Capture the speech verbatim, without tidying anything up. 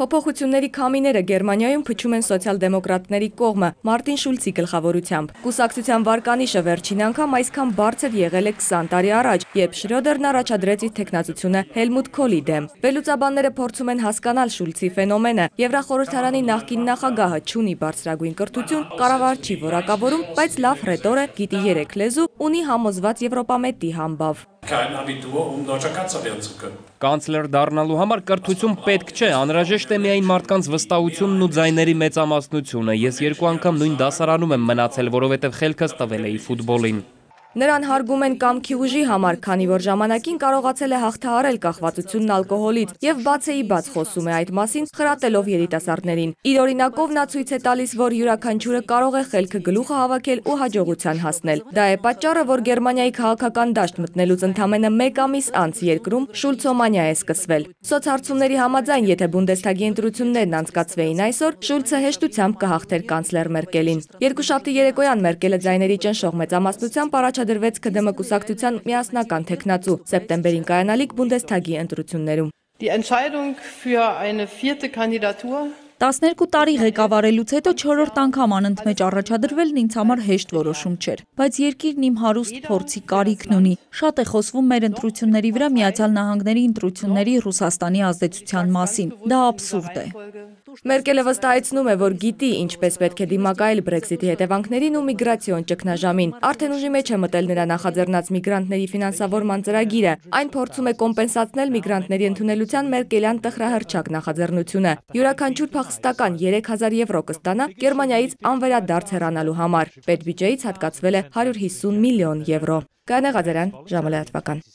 Փոփոխությունների քամիները Գերմանիայում փչում են սոցիալ-դեմոկրատների կողմը Մարտին Շուլցի գլխավորությամբ։ Կուսակցության վարկանիշը վերջին անգամ այսքան բարձր եղել է քսան տարի առաջ, երբ Շրյոդերն առաջադրեց իր թեկնածությունը Հելմուտ Քոլի դեմ։ Վերլուծաբանները փորձում են հասկանալ Շուլցի ֆենոմենը։ Եվրախորհրդարանի նախկին նախագահը չունի բարձրագույն կրթություն, կառավար չի որակավորում, բայց լավ ռետոր է, գիտի երեք լեզու, ունի համոզված եվրոպամետի համբավ։ Կանցլեր դառնալու համար կրթություն պետք չէ, անհրաժեշտ է միայն մարդկանց վստահությունն ու ձայների մեծամասնությունը։ Ես երկու անգամ նույն դասարանում եմ մնացել, որովհետև խելքս տվել էի ֆուտբոլին։ Նրան հարգում են կամքի ուժի համար, քանի որ ժամանակին կարողացել է հաղթահարել կախվածությունն ալկոհոլից եւ բացեի բաց խոսում է այդ մասին, խրատելով երիտասարդներին։ Իր օրինակով նա ցույց է տալիս, որ յուրաքանչյուրը կարող է խելքը գլուխը հավաքել ու հաջողության հասնել։ Դա է պատճառը, որ Գերմանիայի քաղաքական դաշտ մտնելուց ընդամենը մեկ ամիս անց երկրում շուլցոմանիա է սկսվել։ Սոցհարցումների համաձայն, եթե Բունդեսթագի ընտրություններն անցկացվեին այսօր, Շուլցը հեշտությամբ կհաղթեր կանցլեր Մերկելին։ Երկուշաբթի երեկոյան Մերկելը ձայների ճնշող մեծամասնությամբ առաջադրվեց ՔԴՄ կուսակցության միասնական թեկնածու սեպտեմբերին կայանալիք Բունդեսթագի ընտրություններում։ տասներկու տարի ղեկավարելուց հետո չորրորդ անգամ անընդմեջ առաջադրվելն ինձ համար հեշտ որոշում չէր, բայց երկիրն իմ հարուստ փորձի կարիքն ունի։ Շատ է խոսվում մեր ընտրությունների վրա Միացյալ Նահանգների ընտրությունների Ռուսաստանի ազդեցության մասին։ Դա աբսուրդ է։ Մերկելը վստահեցնում է, որ գիտի ինչպես պետք է դիմակայել Բրեքզիթի հետևանքներին ու միգրացիոն ճգնաժամին։ Արդեն ուժի մեջ է մտել նրա նախաձեռնած միգրանտների ֆինանսավորման ծրագիրը։ Այն փորձում է կոմպենսացնել միգրանտների ընդունելության մերկելյան տխրահռչակ նախաձեռնությունը։ Յուրաքանչյուր փախստական երեք հազար եվրո կստանա Գերմանիայից անվերադարձ հեռանալու համար։ Պետբյուջեից հատկացվել է հարյուր հիսուն միլիոն եվրո։ Կանե Ղազարյան, ժամը լրատվական։